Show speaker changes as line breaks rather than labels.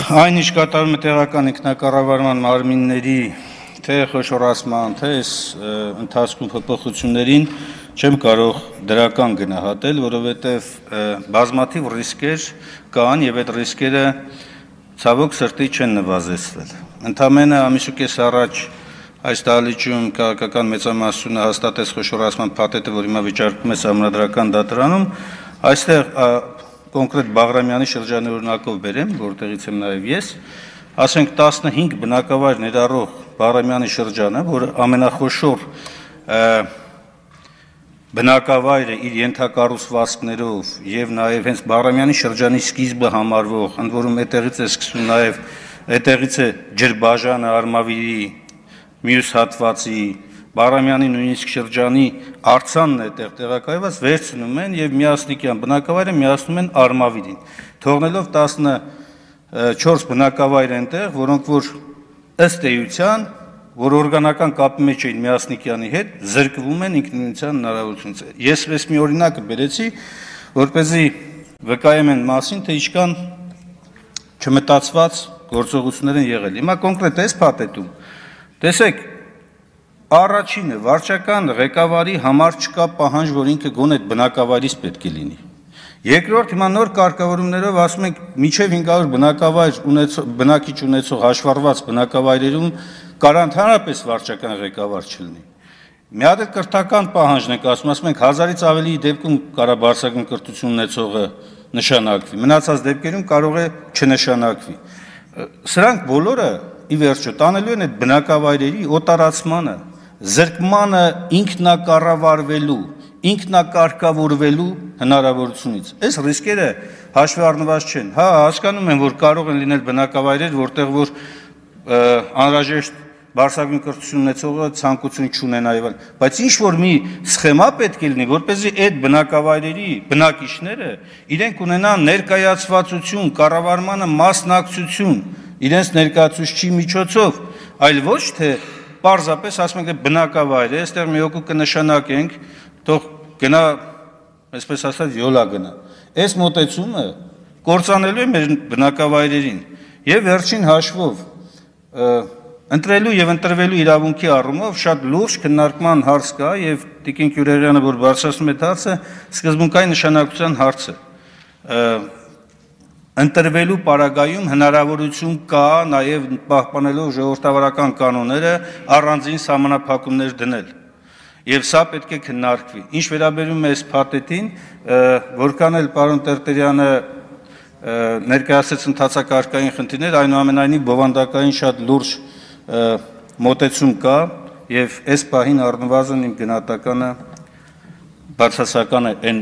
Այն ինչ կատարում է տեղական ինքնակառավարման մարմինների թե խոշորացման, թե ընթացքում փոփոխություններին չեմ կարող դրական գնահատել, որովհետև բազմաթիվ ռիսկեր կան եւ այդ ռիսկերը ցավոք սրտի չեն նվազեցվել։ Ընդամենը ամիս ու կես առաջ այս դահլիճում քաղաքական մեծամասնությունը հաստատեց խոշորացման փաթեթը, որ հիմա վիճարկվում է Սահմանադրական դատարանում, այստեղ կոնկրետ Բաղրամյանի շրջանի օրինակով բերեմ, որտեղից եմ նաև ես, ասենք 15 բնակավայր ներառող Բաղրամյանի շրջանը, որ ամենախոշոր բնակավայրը իր ենթակառուցվածքներով եւ նաև հենց Բաղրամյանի շրջանի սկիզբը համարվող, ընդ որում այդտեղից է սկսվում նաև այդտեղից է Ջրբաժանը, Արմավիրի մյուս հատվածի Բաղրամյանի նույնիսկ շրջանի արձանն է տեղակայված, վերցնում են եւ միասնիկյան բնակավայրը միացնում են Արմավիրին, թողնելով 14 բնակավայր այնտեղ, որոնք որ ըստ էության, որ օրգանական կապի մեջ էին միասնիկյանի հետ, զրկվում են ինքնիշխանության հնարավորությունից։ Ես մի օրինակը բերեցի, որպեսզի վկայեմ այն մասին, թե ինչքան չմտածված գործողություններ են եղել։ Հիմա կոնկրետ այս փաթեթում տեսեք, առաջինը վարչական ղեկավարի համար չկա պահանջ, որ ինքը գոնե այդ բնակավայրից պետք է լինի։ Երկրորդ, հիմա նոր կարգավորումներով ասում ենք մինչև 500 բնակավայր բնակիչ ունեցող հաշվառված բնակավայրերում կարող ընդհանրապես վարչական ղեկավար չլինի։ Մի հատ էլ կրթական պահանջն ենք ասում ենք 1000-ից ավելի դեպքում կարող բարձրագույն կրթություն ունեցողը նշանակվի, մնացած դեպքերում կարող է չնշանակվի։ Սրանք բոլորը ի վերջո տանելու են այդ բնակավայրերի օտարացմանը, զրկմանը ինքնակառավարվելու, ինքնակարգավորվելու հնարավորությունից։ Այս ռիսկերը հաշվի առնված չեն։ Հա, հասկանում եմ, որ կարող են լինել բնակավայրեր, որտեղ որ անհրաժեշտ բարձրագույն կրթություն ունեցողը ցանկություն չունենա եւ այլն, բայց ինչ որ մի սխեմա պետք է լինի, որպեսզի այդ բնակավայրերի բնակիչները իրենք ունենան ներկայացվածություն, կառավարմանը մասնակցություն, իրենց ներկայացուցչի միջոցով, այլ ոչ թե պարզապես ասում ենք բնակավայր է, այստեղ մի հոգու կնշանակենք, թող գնա, այսպես ասած, յոլա գնա։ Այս մոտեցումը կործանելու է մեր բնակավայրերին եւ վերջին հաշվով ընտրելու եւ ընտրվելու իրավունքի առումով շատ լուրջ քննարկման հարց կա եւ Տիկին Կյուրերյանը, որ բարձրացնում է հարցը, սկզբունքային նշանակության հարց է։ Ընտրվելու պարագայում հնարավորություն կա նաև պահպանելով ժողովրդավարական կանոնները առանձին սահմանափակումներ դնել։ Եվ սա պետք է քննարկվի։ Ինչ վերաբերում է այս փաթեթին, որքան էլ պարոն Տերտերյանը ներկայացրեց ընթացակարգային խնդիրներ, այնուամենայնիվ բովանդակային շատ լուրջ մոտեցում կա եւ այս պահին առնվազն իմ գնահատականը բացասական է այն